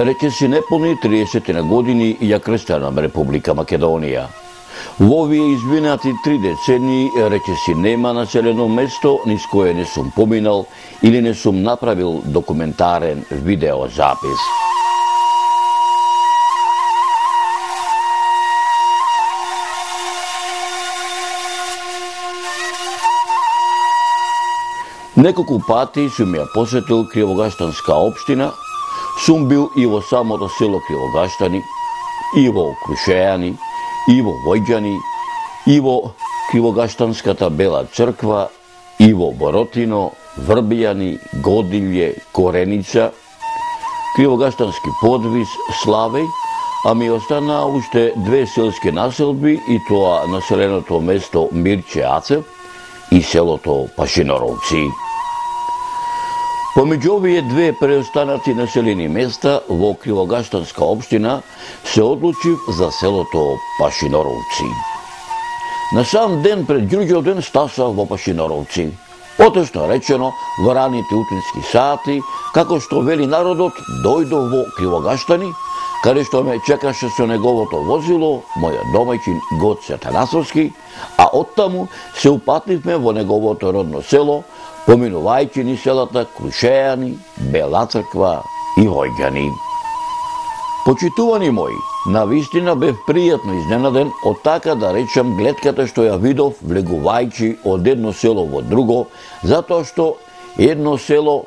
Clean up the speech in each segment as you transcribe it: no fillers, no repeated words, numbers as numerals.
речиси неполни 30 на години ја крстена Република Македонија. Во овие изминати 3 децении речиси нема населено место низ кое не сум поминал или не сум направил документарен видеозапис. Неколку пати сум ја посетил Кривогаштанска општина, сум бил и во самото село Кривогаштани, и во Крушејани, и во Војџани, и во Кривогаштанската Бела црква, и во Боротино, Врбијани, Годилје, Кореница, Кривогаштански подвис, Славеј, а ми останаа уште 2 селски населби и тоа населеното место Мирче Ацев и селото Пашиноровци. Помеѓу овие 2 преостанати населени места во Кривогаштанска општина се одлучив за селото Пашиноровци. На сам ден пред Ѓурѓовден стасав во Пашиноровци. Поточно речено, во раните утрински сати, како што вели народот, дојдов во Кривогаштани, каде што ме чекаше со неговото возило, мојот домаќин Гоце Атанасовски, а оттаму се упативме во неговото родно село, поминувајќи ни селата Крушејани, Бела црква и Војѓани. Почитувани мои, навистина бев пријатно изненаден од така да речам гледката што ја видов влегувајќи од едно село во друго, затоа што едно село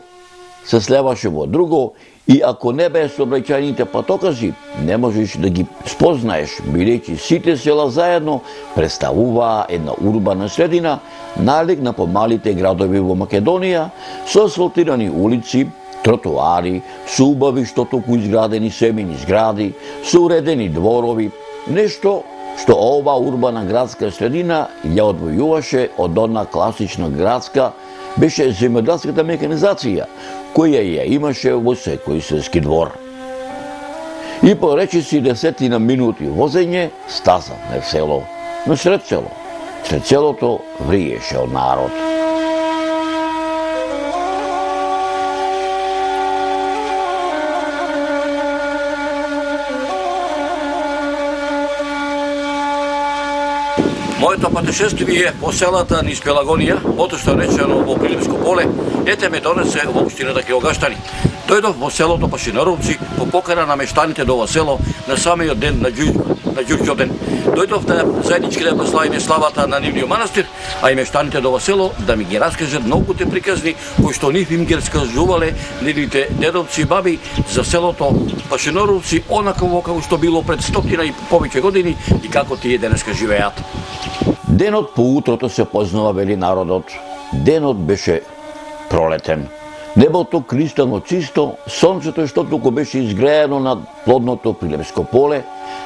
се слеваше во друго и ако не бе сообраќајните патокази, не можеш да ги спознаеш, бидејќи сите села заедно представуваа една урбана средина, налик на помалите градови во Македонија, со асфалтирани улици, тротоари, со убави што току изградени семени згради, со уредени дворови, нешто што ова урбана градска средина ја одвојуваше од она класична градска, беше земјоделската механизација, која ја имаше во секој селски двор. И по речиси 10 минути возење стасавме в село, но сред село. Сред селото вриеше од народ. Моето патешествие по селата низ Пелагонија, поточно речено во Пилипско поле, ете ме донесе во општината Кривогаштани. Дојдов во селото Пашиноровци по покана на мештаните до ова село на самиот ден на Ѓурѓовден. Дојдов да заеднички да прославиме славата на нивниот манастир, а и мештаните до ова село да ми ги раскажат многуте приказни кои што нив им ги раскажувале нивните дедовци и баби за селото Пашиноровци, онакво како што било пред 100 и повеќе години и како тие денеска живеат. Денот по утрото се познава, вели народот. Денот беше пролетен. Небото кристално чисто, сонцето што туку беше изгреено над плодното Пилипско поле,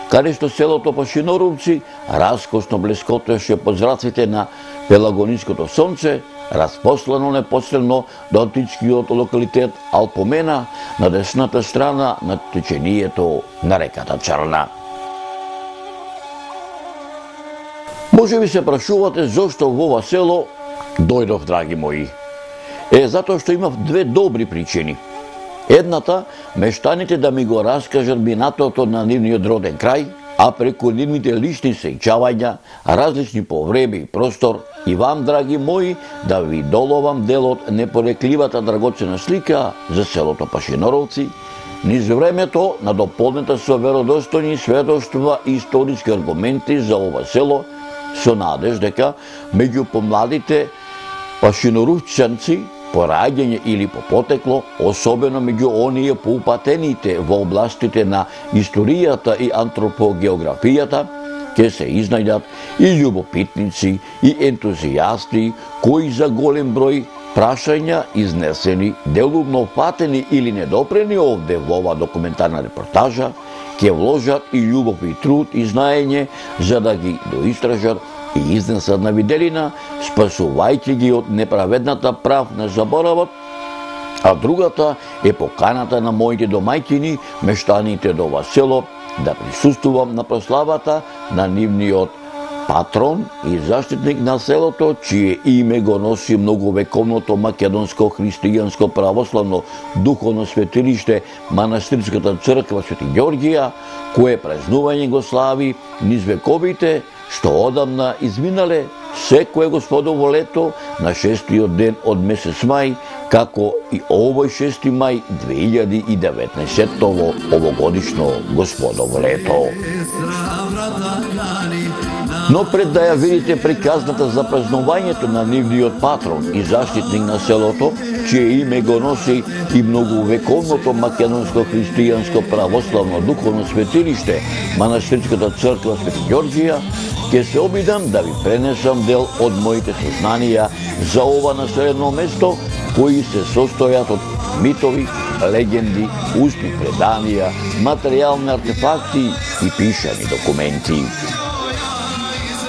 каде што селото Пашиноровци раскошно блескотеше под зраците на пелагониското сонце, распослано непосредно до античкиот локалитет Алпомена на десната страна на течението на реката Чарна. Може би се прашувате зошто во ова село дојдов, драги мои. Затоа што имав 2 добри причини. Едната, мештаните да ми го раскажат минатото на нивниот роден крај, а преку нивните лични сеќавања, различни по време и простор, и вам, драги мои, да ви доловам дел од непорекливата драгоцена слика за селото Пашиноровци, низ времето на дополнета со веродостојни сведоштва и историски аргументи за ова село, со надеж дека меѓу помладите пашиноровчанци по раѓање или по потекло, особено меѓу оние поупатените во областите на историјата и антропогеографијата, ќе се изнајдат и љубопитници и ентузијасти кои за голем број прашања изнесени, делумно фатени или недопрени овде во ова документарна репортажа, ќе вложат и љубов и труд и знаење за да ги доистражат и изнесат на виделина, спасувајќи ги од неправедната прав на заборавот, а другата е поканата на моите домајќини, мештаните до ова село, да присуствувам на прославата на нивниот патрон и заштитник на селото, чие име го носи многовековното македонско христијанско православно духовно светилиште Манастирската црква Свети Ѓорѓија, кое празнување го слави низ вековите, што одамна изминале секое Господово лето на 6-тиот ден од месец мај, како и овој 6 мај 2019-тово овогодишно Господово лето. Но пред да ја видите приказната за празнувањето на нивниот патрон и заштитник на селото, чие име го носи и многовековното македонско христијанско православно духовно светилиште Манастирската црква Свети Ѓорѓија, ќе се обидам да ви пренесам дел од моите сознанија за ова населено место, кои се состојат од митови, легенди, устни преданија, материјални артефакти и пишани документи.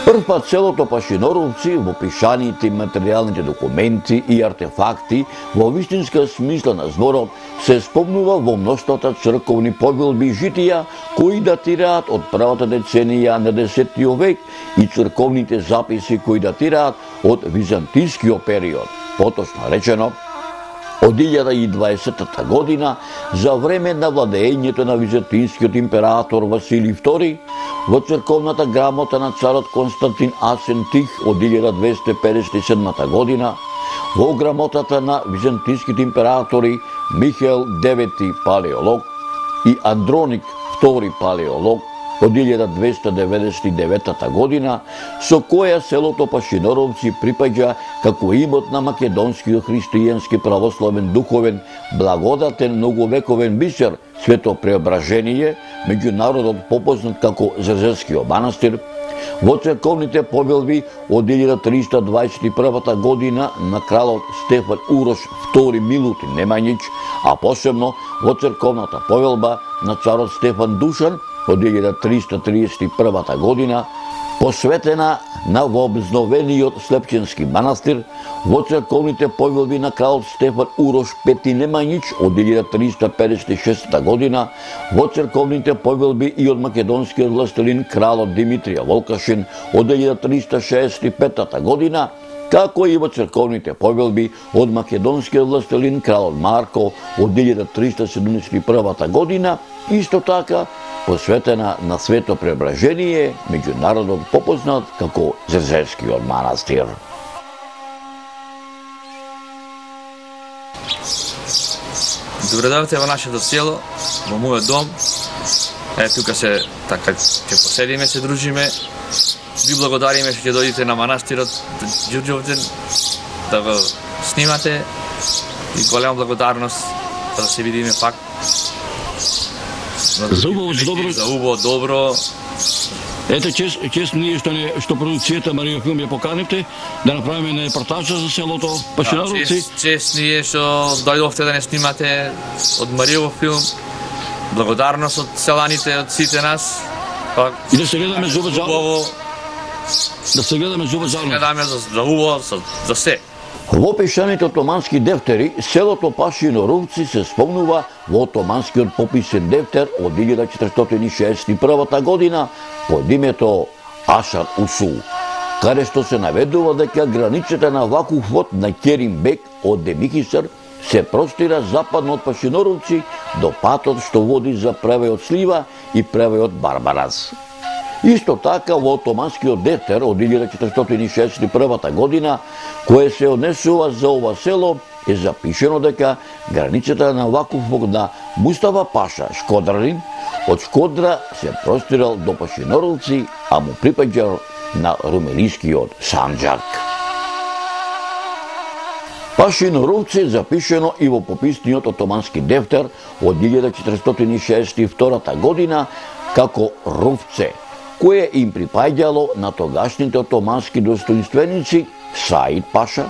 Првпат селото Пашиноровци во пишаните материјалните документи и артефакти во вистинска смисла на зборот се спомнува во мноштвата црковни повелби и житија кои датираат од првата деценија на 10 век и црковните записи кои датираат од византискиот период, поточно речено од 1020 година за време на владеењето на византискиот император Василий II, во црковната грамота на царот Константин Асен Тих од 1257 година, во грамотата на византиските императори Михаел IX Палеолог и Андроник II Палеолог од 1299 година, со која селото Пашиноровци припаѓа како имот на македонскиот христијански православен духовен благодатен многовековен бисер Свето Преображение, меѓу народот попознат како Зрзевскиот манастир, во црковните повелби од 1321 година на кралот Стефан Урош II Милутин Немањич, а посебно во црковната повелба на царот Стефан Душан од 1331 година, посветена на вообновениот Слепченски манастир, во црковните повелби на кралот Стефан Урош V Немањич од 1356 година, во црковните повелби и од македонскиот властелин кралот Димитрија Волкашин од 1365 година, како и во црковните повелби од македонскиот властелин кралот Марко од 1371 година, исто така посветена на Свето Преображение, меѓу народот попознат како Зрзевскиот манастир. Добре дојдовте во нашето село, во мојот дом. Тука се така ќе поседиме, се дружиме. Ви благодариме што ќе дојдете на манастирот Ѓурѓовден да го снимате и голема благодарност да се видиме пак. За убаво, добро. Ете, чест ние што продукцијата Марио Филм ја поканивте да направиме една репортажа за селото Пашиноровци. Чест ние што дојдовте да не снимате од Марио Филм. Благодарност од селаните, од сите нас. И да се гледаме за убаво. Да се гледаме за убаво. Гледаме за убаво, за се. Во пишаните отомански дефтери, селото Пашиноровци се спомнува во отоманскиот пописен дефтер од 1461 година под името Ашар Усул, каде што се наведува дека границата на вакуфот на Керимбек од Демихисар се простира западно од Пашиноровци до патот што води за превејот Слива и превејот Барбарас. Исто така во отоманскиот дефтер од 1461 година, кое се однесува за ова село, е запишено дека границата на вакуфот на Мустафа Паша Шкодралин од Шкодра се простирал до Пашиноровци, а му припаѓал на румелискиот Санџак. Пашиноровци запишено и во пописниот отомански дефтер од 1462 година како Рувце, кое им припаѓало на тогашните отомански достоинственици Саид Паша,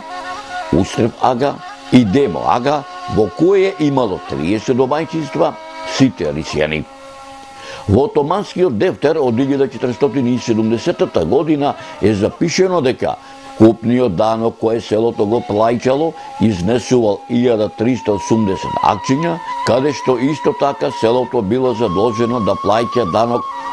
Устреп ага и Демо ага, во кое имало 30 домајчинства, сите рисјани. Во отоманскиот дефтер од 1470 година е запишено дека купниот данок кое селото го плаќало изнесувал 1380 акциња, каде што исто така селото било задолжено да плаќа данок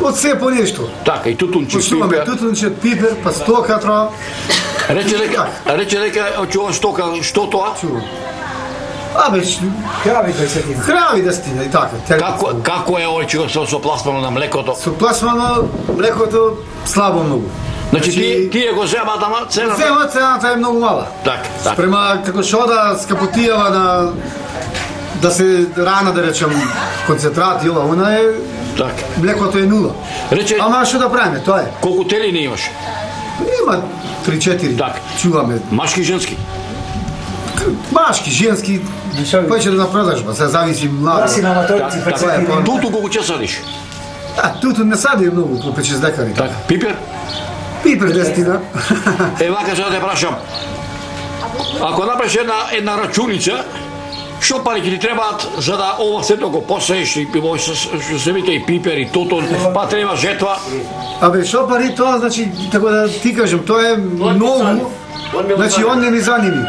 Од се по нешто. Така, и тутунче, Почнуваме пипер. тутунче, пипер, па стока треба. Рече дека од ова стока, што тоа? Абе, Крави кои се тим. крави да стине и така. Како е овој чиго со пласмано на млекото? Со пласмано млекото слабо многу. Значи тие го земат, ама цената. Земат, цената е многу мала. Така, така. Спрема како што да скапотијава на да се рана да речем концентрат и ова, она е Така. млекото е нула. Рече, Ама што да правиме, тоа е. колку телини имаш? Има 3-4. Така. Чуваме. Машки и женски? Машки, женски, поќе да на продажба, се зависи младо. Да си на аматорци Така, прецепи. така. Туту колку ќе садиш? Туто не сади многу, по 5-6 декари. Така. Пипер? Пипер дестина. Вака сега те прашам. Ако направиш една рачуница, што пари ќе ти требаат за да ова сето го посееш и земите и пипер и тутун, па треба жетва. Абе, шо пари тоа, значи, така да ти кажем, тоа е многу, значи, он не ни заними.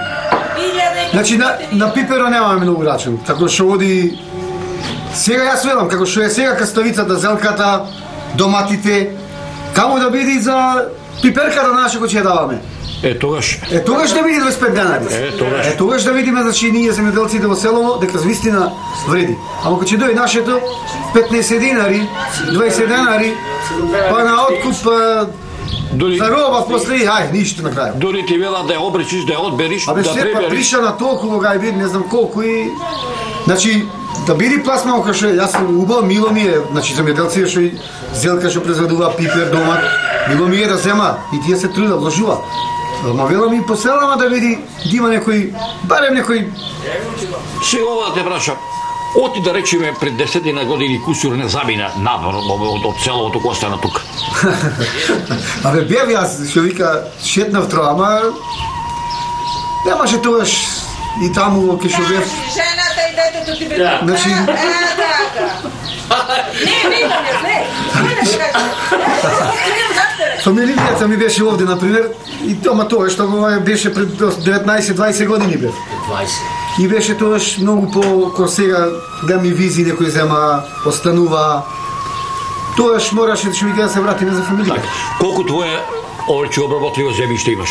Значи, на пиперо немаме многу рачун, така што оди... Сега јас велам, како што е сега каставицата, зелката, доматите, камо да биде за пиперката наша кој ќе ја даваме. Тогаш. Тогаш да биде 25 денари. Тогаш. Тогаш да видиме, значи, ние земјоделците во селово, дека вистина вреди. Ама кога ќе дојде нашето, 15 денари, 20 денари, па на откуп, Дури, за роба после, ај, ништо на крај. дури ти велат да ја обречиш, да ја одбериш, Абе, да се па пребериш. приша на толку га биде, не знам колку и... Значи, да биде пласмано кај што јас сум убав, мило ми е, значи земјоделците што и зелка што произведува пипер, домат, мило ми е да зема и тие се труда, вложува. Ма велам и по селама да види, да има некој, барем некој... Сега ова да те прашам. Оти да речеме пред 10 години кусур не замина надвор од селото кој остана тука. Абе, бев јас, што вика, шетнав троа, ама... Немаше тогаш и таму, ке што бев... Жената и детето ти бе. Значи... Фамилијата ми беше овде, например, и тома тоа што го беше пред 19-20 години бев. 20. И беше тоаш многу по сега да ми визи некој зема, останува. Тоаш мораше да се вратиме за фамилија. Колку твое овој обработливо земјиште имаш?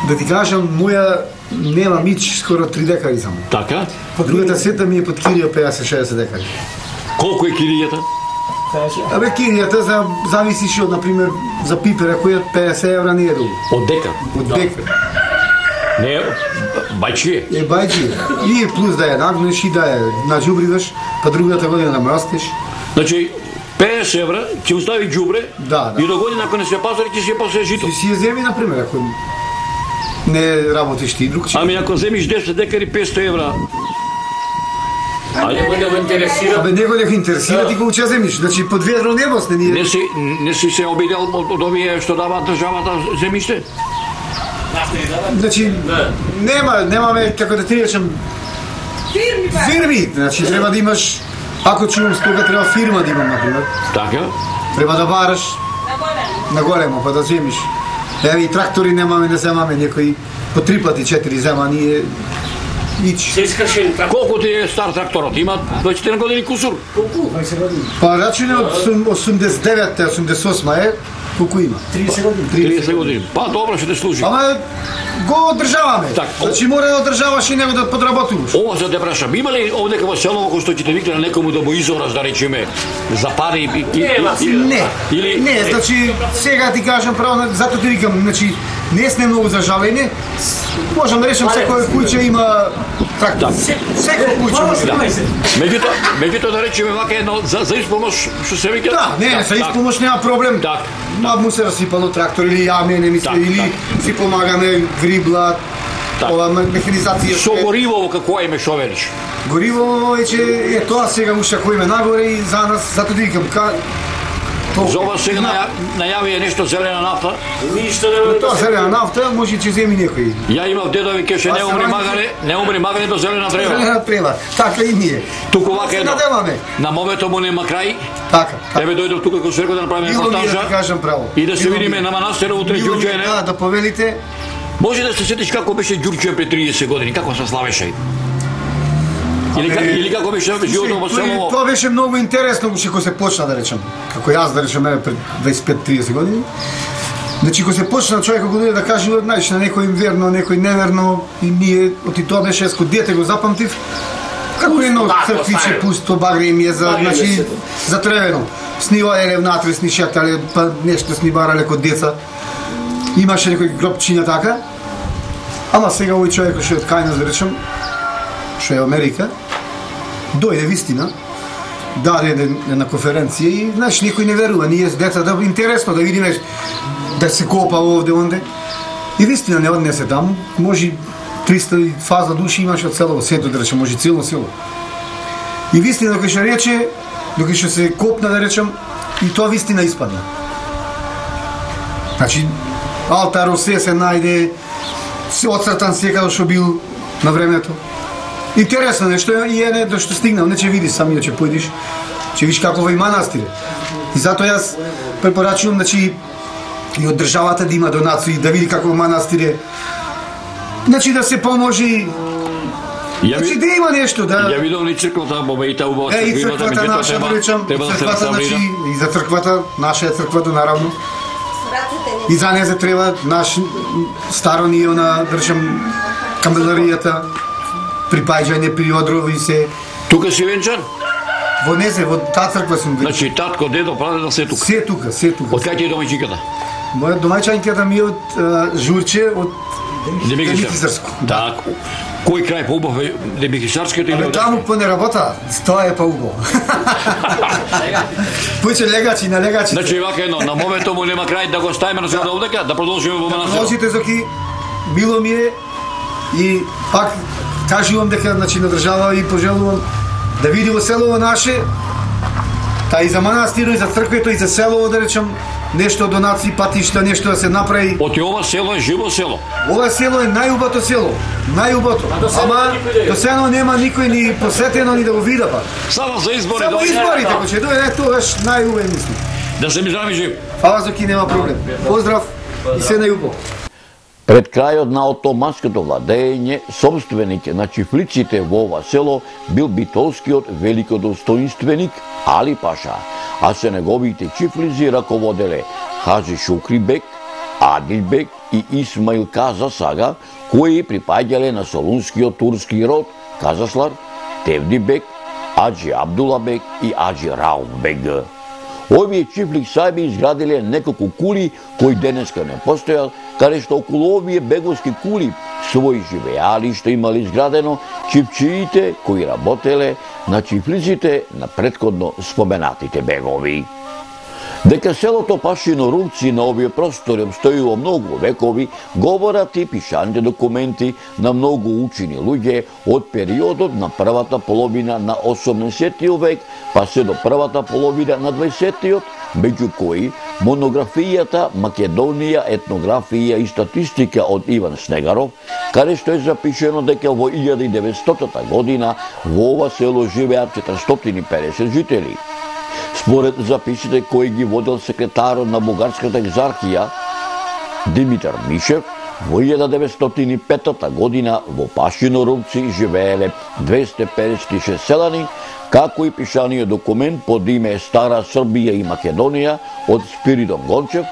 Да ти кажам, моја нема мич скоро 3 декари само. Така? Другата сета ми е под кирија 50-60 декари. Колку е киријата? Абе, киријата зависише од, например, за пипера, која 50 евра не е долу. Од декар? Од декар. Не, бајчие. Е, бајчие. И плюс да ја нагнеш и да ја наđубриваш, па другата година да мрастиш. Значи, 50 евра ќе остави ѓубре Да. и до година ако не се пазари ќе се посее жито. Ти си ја земи, например, ако не работиш ти друг. Ами ако земиш 10 декари 500 евра. Абе, него не го интересира, ти го уча земиш. Значи, под ведро небо сте ние. Не си се обидел од овие што дава државата земјиште? Значи, немаме, како да ти речем, фирми. Значи, треба да имаш, ако чувам стога, треба фирма да имам, например. Така? Треба да бараш на големо, па да земиш. Еве и трактори немаме, не земаме некои по 3 пати 4 зема, ние ич. Колку ти е стар тракторот? Има 24 години кусур? Па рачуне од 89-88 е, колку има? 30 години. 30 години. Па добро ќе те служи. Ама го одржаваме. Так, Значи мора да одржаваш и него да подработуваш. Ова за да те прашам, има ли овде во село кој што ќе те викне на некому да му изораш, да речеме, за пари Не, или не, значи сега ти кажам право, зато ти викам, значи не сме многу зажалени. Можам да речем секој куќа има трактор. Секој куќа може да. Меѓутоа да речеме вака едно за испомош што се вика. Да, не, за испомош нема проблем. Так. Му се расипало трактор или јаме, не мисле, или си помагаме грибла, ова механизација. Со гориво како име што велиш? Гориво е тоа сега уште кој име нагоре и за нас, зато ти викам, За ова сега најави е нешто зелена нафта. Тоа зелена нафта може ќе земи некој. Ја имав дедови кеше не умри магаре до зелена трева. Зелена трева, така и ние. Туку вака едно. Надеваме. На момето му нема крај. Така. Еве дојдов тука кога Серко да направиме репортажа. Кажам право. И да се видиме на манастирот утре Ѓурѓе. Да повелите. Може да се сетиш како беше Ѓурѓе пред 30 години, како се славеше. Или како беше животот во село? Тоа беше многу интересно кога се почна, да речем. Како јас, да речем, пред 25-30 години. Значи, кога се почна човек го дојде да каже, знаеш, на некој им верно, некој неверно, и ние, оти тоа беше, еско дете го запамтив, како едно црквиче пусто, багре им е за, значи, затревено. Снива еле внатре, снишатале, па нешто снибарале кod деца. Имаше некој гробчиња така. Ама сега овој човек што е од Кајнас, да речем, што е Америка, дојде вистина, даде една конференција и, знаеш, никој не верува, ние с деца, да интересно да видиме да се копа овде, онде. И вистина не однесе таму, може 300 фаза души имаше од село сето, да речем, може цело село. И вистина, докато што рече, докато што се копна, да речем, и тоа вистина испадна. Значи, алтар се најде, се оцртан секако што бил на времето. Интересно нешто и е до што стигнал, не ќе видиш сами, ќе појдиш, ќе видиш како во и манастире. И затоа јас препорачувам, значи, и од државата да има донации, да види како во манастире, значи да се поможи, значи да има нешто, да... Ја видов ли црквата, бобејта убава и црквата наша, да речам, црквата, значи, и за црквата, наша е црквата, наравно. И за неја треба наш старо ние на, да речем, камеларијата, припаѓање при одрови се. Тука си венчан? Во Незе, во таа црква сум венчан. Значи татко, дедо, прадедо се тука? Се тука, се тука. Од кај ти е домаќинката? Моја домаќинката ми е од Журче, од Демикисарско. Да. Кој крај поубав е Демикисарското или од? Таму по не работа, тоа е поубаво. Пуќе легачи на легачи. Значи вака едно, на моментот му нема крај да го ставиме на сега овдека, да продолжиме во манастирот. Продолжите, Зоки, мило ми е и пак кажувам дека, значи, на држава и пожелувам да види во селово наше, та и за манастирот, и за црквето, и за селово, да речем, нешто донации, патишта, нешто да се направи. Оти ова село е живо село. Ова село е најубато село, најубато. Ама до сега нема никој ни посетено ни да го вида па. Само за избори. Само изборите, ако ќе дојде тогаш најубаво мислам. Да се ми здрави жив. Фала, Зоки, нема проблем. Поздрав и се најубаво. Пред крајот на отоманското владење, собственик на чифлиците во ова село бил битолскиот великодостоинственик Али Паша, а се неговите чифлици раководеле Хажи Шукрибек, Адилбек и Исмаил Каза Сага, кои припаѓале на солунскиот турски род Казаслар, Тевдибек, Аджи Абдулабек и Аджи Рауфбек. Овие чифлик сајби изградиле неколку кули кои денеска не постојат, каде што околу овие беговски кули своји живеалишта имали изградено чипчиите кои работеле на чифлиците на претходно споменатите бегови. Дека селото Пашиноровци на овие простори обстојува многу векови, говорат и пишаните документи на многу учени луѓе од периодот на првата половина на 18 век, па се до првата половина на 20-тиот, меѓу кои монографијата Македонија, етнографија и статистика од Иван Снегаров, каде што е запишено дека во 1900 година во ова село живеат 450 жители. Според записите кои ги водел секретарот на Бугарската екзархија Димитар Мишев, во 1905 година во Пашиноровци живееле 256 селани, како и пишаниот документ под име Стара Србија и Македонија од Спиридон Гончев,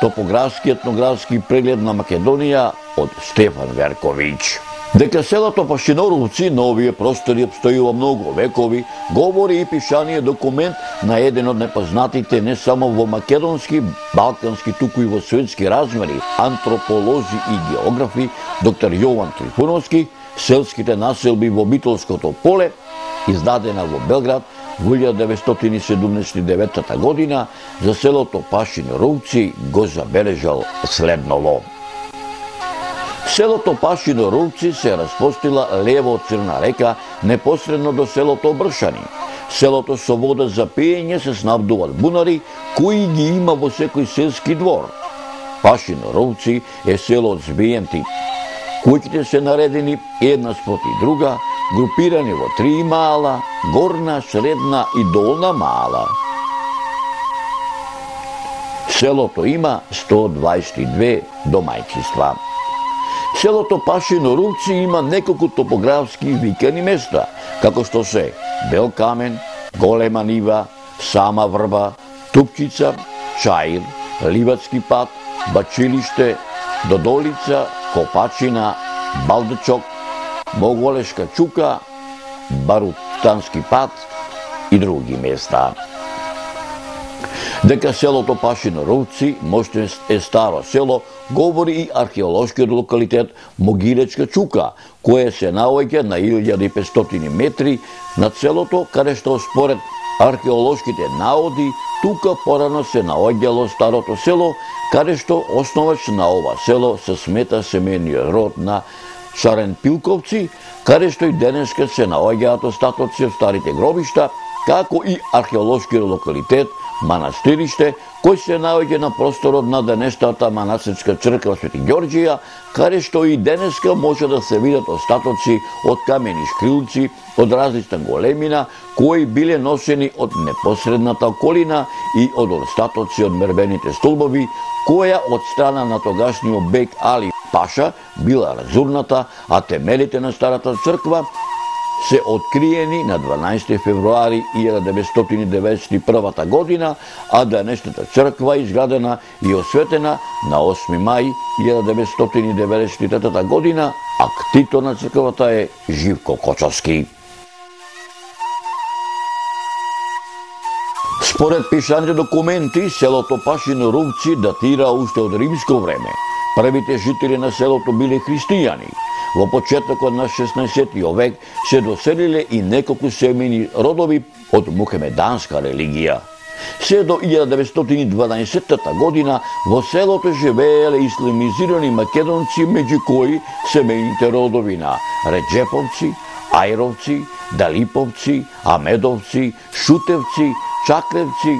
топографски етнографски преглед на Македонија од Стефан Верковиќ. Дека селото Пашиноровци на овие простори обстојува многу векови, говори и пишаниот документ на еден од непознатите не само во македонски, балкански, туку и во светски размери, антрополози и географи, доктор Јован Трифуновски, селските населби во Битолското поле, издадена во Белград во 1979 година, за селото Пашиноровци го забележал следново. Селото Пашиноровци се распостила лево од Црна река, непосредно до селото Бршани. Селото со вода за пиење се снабдуваат бунари, кои ги има во секој селски двор. Пашиноровци е село од збиен тип. Куќите се наредени една спроти друга, групирани во 3 мала, горна, средна и долна мала. Селото има 122 домајчинства. Селото Пашиноровци има неколку топографски викани места, како што се Бел камен, Голема нива, Сама врба, Тупчица, Чаир, Ливацки пат, Бачилиште, Додолица, Копачина, Балдачок, Моголешка чука, Барутански пат и други места. Дека селото Пашиноровци можда е старо село, говори и археолошкиот локалитет Могилечка чука, кое се наоѓа на 1500 метри над селото, каде што според археолошките наоди, тука порано се наоѓало старото село, каде што основач на ова село се смета семејниот род на Шаренпилковци, каде што и денеска се наоѓаат остатоци од старите гробишта, како и археолошкиот локалитет Манастириште, кој се наоѓа на просторот на денешната манастирска црква Свети Ѓорѓија, каде што и денеска може да се видат остатоци од камени шкрилци од различна големина, кои биле носени од непосредната околина и од остатоци од мербените столбови, која од страна на тогашниот бек Али Паша била разурната, а темелите на старата црква се откриени на 12 февруари 1991 година, а денешната црква изградена и осветена на 8 мај 1993 година, а ктитор на црквата е Живко Кочовски. Според пишаните документи, селото Пашиноровци датира уште од римско време. Првите жители на селото биле христијани. Во почетокот на 16 век се доселиле и неколку семејни родови од мухамеданска религија. Се до 1912 година во селото живееле исламизирани македонци, меѓу кои семејните родови на Реджеповци, Ајровци, Далиповци, Амедовци, Шутевци, Чаклевци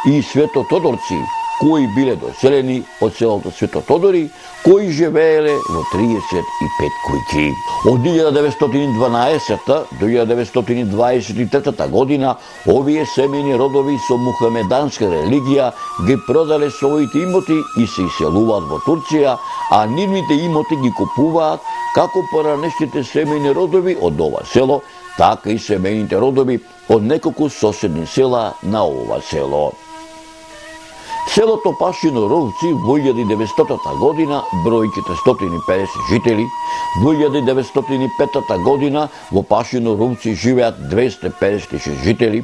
и Светотодорци, кои биле доселени од селото Светотодори, кои живееле во 35 куќи. Од 1912 до 1923 година овие семејни родови со мухамеданска религија ги продале своите имоти и се иселуваат во Турција, а нивните имоти ги купуваат како поранешните семејни родови од ова село, така и семејните родови од неколку соседни села на ова село. Селото Пашиноровци во 1900 година брои 450 жители, во 1905 година во Пашиноровци живеат 256 жители,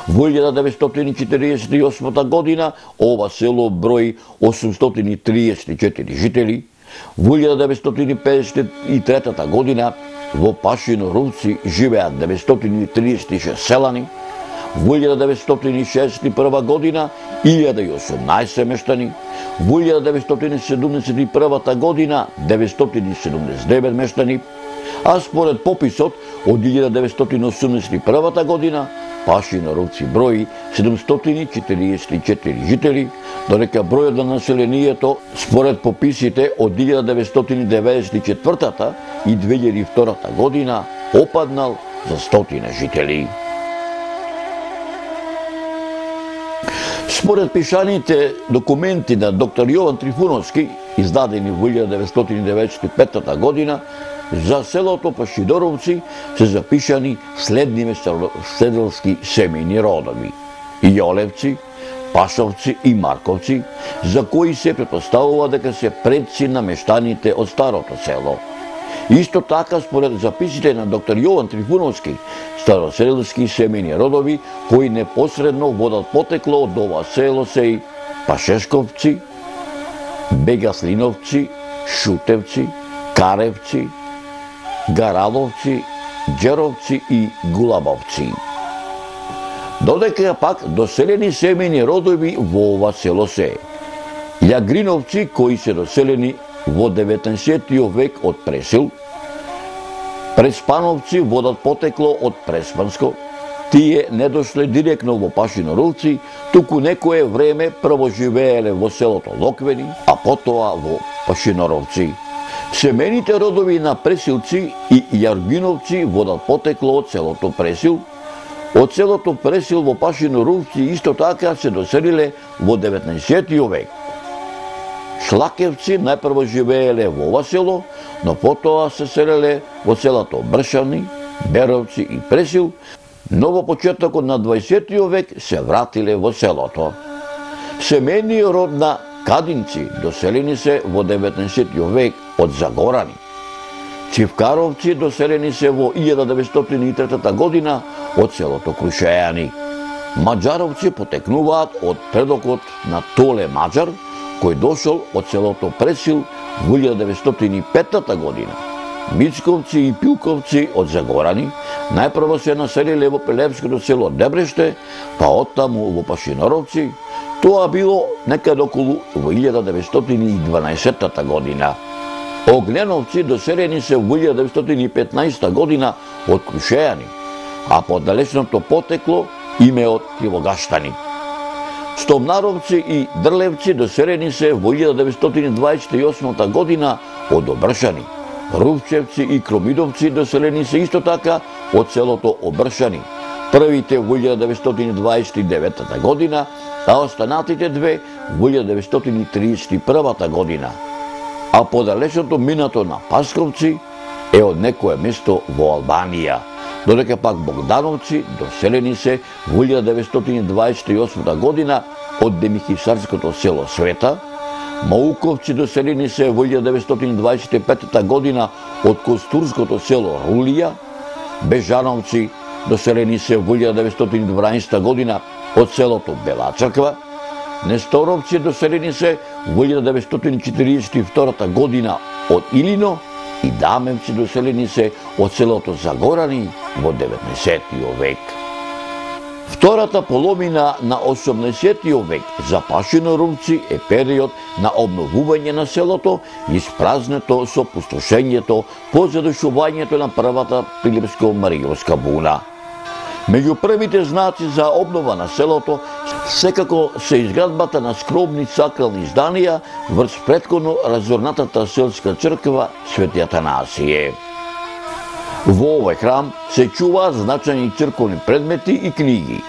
во 1948 година ова село брои 834 жители, во 1953 година во Пашиноровци живеат 936 селани, во 1961 година 1018 мештани, во 1971 година 979 мештани, а според пописот од 1981 година Пашиноровци брои 744 жители, додека бројот на населението според пописите од 1994 и 2002 година опаднал за 100 жители. Според пишаните документи на доктор Јован Трифуновски, издадени во 1995 година, за селото Пашиноровци се запишани следниве седелски семејни родови: Јолевци, Пашовци и Марковци, за кои се претпоставува дека се предци на мештаните од старото село. Исто така, според записите на доктор Јован Трифуновски, староселски семејни родови кои непосредно водат потекло од ова село се и Пашешковци, Бегаслиновци, Шутевци, Каревци, Гараловци, Џеровци и Гулабовци. Додека пак доселени семејни родови во ова село се Јагриновци, кои се доселени во 19 век од Пресил, Преспановци водат потекло од Преспанско, тие не дошле директно во Пашиноровци, туку некое време прво живееле во селото Локвени, а потоа во Пашиноровци. Семејните родови на Пресилци и Јаргиновци водат потекло од селото Пресил. Од селото Пресил во Пашиноровци исто така се доселиле во 19 век. Шлакевци најпрво живееле во ова село, но потоа се селеле во селото Бршани, Беровци и Пресил, но во почетокот на 20 век се вратиле во селото. Семејниот род на Кадинци доселени се во 19 век од Загорани. Цивкаровци доселени се во 1903 година од селото Крушејани. Маđаровци потекнуваат од предокот на Толе Маđар, кој дошол од селото Пресил во 1905 година. Мицковци и Пилковци од Загорани најпрво се населиле во пелепското село Дебреште, па оттаму во Пашиноровци. Тоа било некаде околу во 1912 година. Огненовци доселени се во 1915 година од Крушејани, а по далечното потекло име од Кривогаштани. Стомнаровци и Дрлевци доселени се во 1928 година од Обршани. Рувчевци и Кромидовци доселени се исто така од селото Обршани. Првите во 1929 година, а останатите две во 1931 година. А подалечното минато на Пасковци е од некое место во Албанија, додека пак Богдановци доселени се во 1928 година од демихисарското село Света, Мауковци доселени се во 1925 година од Костурското село Рулија, Бежановци доселени се во 1912 година од селото Бела Црква, Несторовци доселени се во 1942 година од Илино и Дамевци доселени се од селото Загорани во 19 век. Втората половина на 18 век за Пашиноровци е период на обновување на селото, испразнето со пустошењето по задушувањето на првата Пилипско-Маријовска буна. Меѓу првите знаци за обнова на селото секако се изградбата на скромни сакрални зданија врз претходно разорнатата селска црква Свети Атанасије. Во овој храм се чуваат значајни црковни предмети и книги.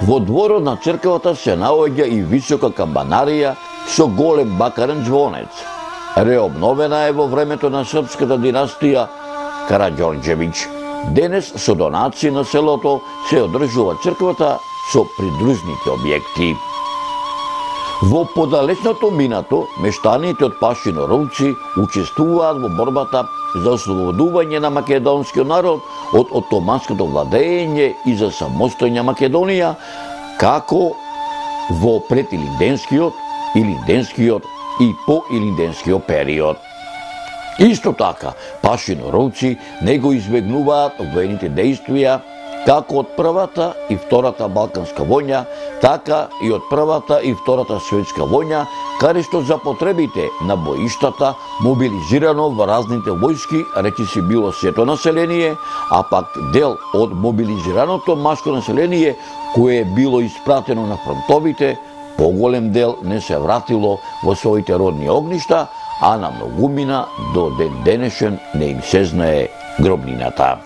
Во дворот на црквата се наоѓа и висока камбанарија со голем бакарен звонец. Реобновена е во времето на српската династија Караѓорđевиќ. Денес со донации на селото се одржува црквата со придружните објекти. Во подалечното минато, мештаните од Пашиноровци учествуваат во борбата за ослободување на македонскиот народ од отоманското владење и за самостојна Македонија, како во предилинденскиот, илинденскиот и поилинденскиот период. Исто така, Пашиноровци не го избегнуваат воените действија како од Првата и Втората Балканска војна, така и од Првата и Втората светска војна, каде што за потребите на боиштата мобилизирано во разните војски, речиси било сето население, а пак дел од мобилизираното машко население кое било испратено на фронтовите, поголем дел не се вратило во своите родни огништа, а на многумина до ден денешен не им се знае гробнината.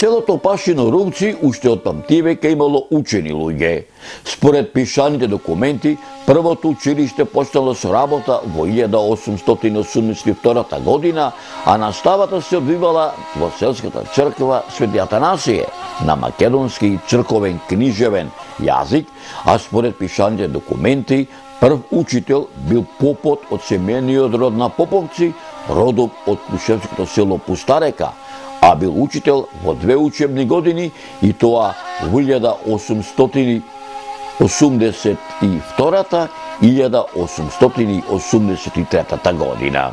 Селото Пашиноровци уште од памтивека имало учени луѓе. Според пишаните документи, првото училиште почнало со работа во 1882 година, а наставата се одвивала во селската црква Свети Атанасије на македонски црковен книжевен јазик, а според пишаните документи, прв учител бил попот од семејниот род на Поповци, родом од Крушевското село Пустарека, а бил учител во 2 учебни години и тоа во 1882 и 1883 година.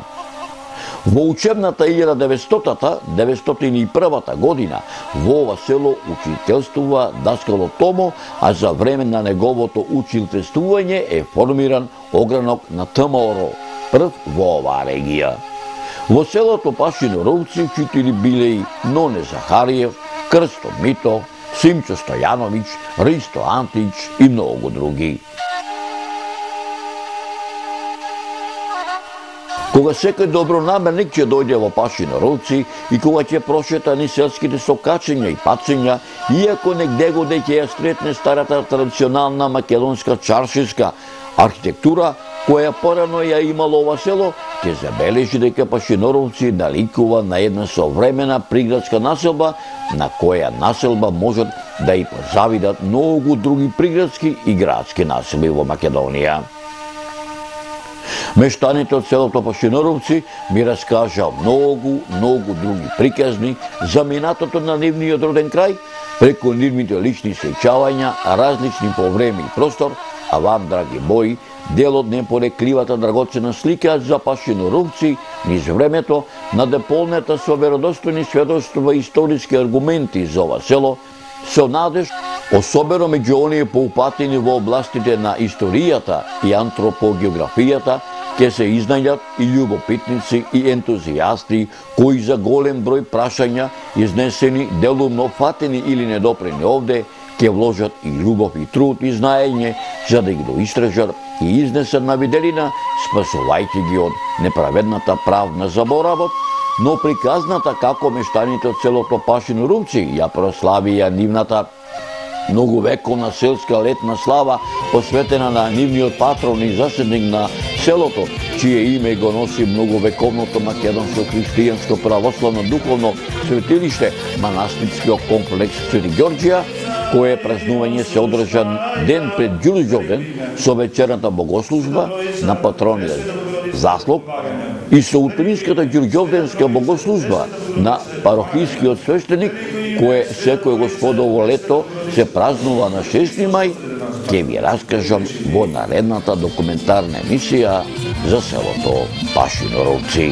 Во учебната 1900-901 година во ова село учителствува даскало Томо, а за време на неговото учителствување е формиран огранок на ТМОРО, прв во оваа регија. Во селото Пашиноровци учители биле и Ноне Захариев, Крсто Мито, Симчо Стојановиќ, Ристо Антич и многу други. Кога секој добронамерник ќе дојде во Пашиноровци и кога ќе прошета ни селските сокачења и пацења, иако негде го ќе ја сретне старата традиционална македонска чаршиска архитектура, која порано ја имало ова село, ќе забележи дека Пашиноровци наликува на една современа приградска населба, на која населба можат да и позавидат многу други приградски и градски населби во Македонија. Мештаните од селото Пашиноровци ми раскажа многу други приказни за минатото на нивниот роден крај, преку нивните лични сеќавања, различни по време и простор, а вам, драги мои, дел од непорекливата драгоцена слика за Пашиноровци низ времето, надополнета со веродостојни сведоштва и историски аргументи за ова село, со надеж, особено меѓу оние поупатени во областите на историјата и антропогеографијата, ќе се изнајдат и љубопитници и ентузијасти кои за голем број прашања, изнесени, делумно фатени или недопрени овде, ќе вложат и љубов и труд и знаење за да ги доистражат и изнесат на виделина, спасувајќи ги од неправедната правна заборавот, но приказната како мештаните од селото Пашиноровци ја прославија нивната многувековна селска летна слава, посветена на нивниот патрон и заседник на селото, чие име го носи многувековното македонско христијанско православно духовно светилиште, манастирскиот комплекс Свети Ѓорѓија, кое празнување се одржа ден пред Ѓурѓовден со вечерната богослужба на патрониот заслуг и со утринската Ѓурѓовденска богослужба на парохискиот свештеник, кое секој господово лето се празнува на 6 мај, ќе ви раскажам во наредната документарна емисија за селото Пашиноровци.